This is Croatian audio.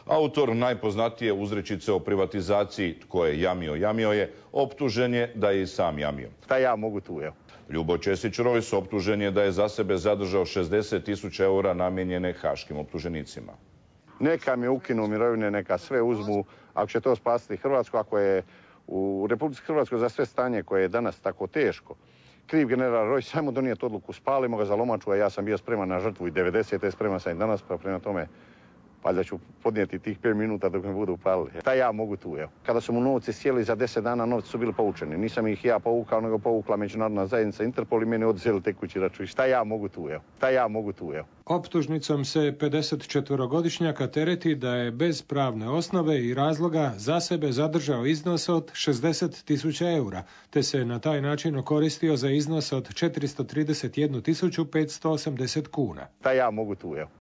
Autor najpoznatije uzrečice o privatizaciji "Tko je jamio, jamio je", optužen je da je i sam jamio. Šta ja mogu tu, evo? Ljubo Ćesić-Rojs optužen je da je za sebe zadržao 60.000 eura namijenjene haškim optuženicima. Neka mi ukinu mirovine, neka sve uzmu, ako će to spasiti Hrvatsku, ako je u Republici Hrvatskoj za sve stanje koje je danas tako teško kriv general Rojs, sajmo donijeti odluku, spalimo ga za lomaču, a ja sam bio spreman na žrtvu i 90. spreman sam i danas, pa prema tome valjda ću podnijeti tih 5 minuta dok me budu upalili. Šta ja mogu tu, evo? Kada su mu novci sjeli za 10 dana, novci su bili povučeni. Nisam ih ja povukao, nego povukla međunarodna zajednica Interpol i meni odzeli tekući račun. Šta ja mogu tu, evo? Šta ja mogu tu, evo? Optužnicom se 54-godišnjaka tereti da je bez pravne osnove i razloga za sebe zadržao iznos od 60.000 eura, te se na taj način okoristio za iznos od 431.580 kuna. Šta ja mogu tu, evo?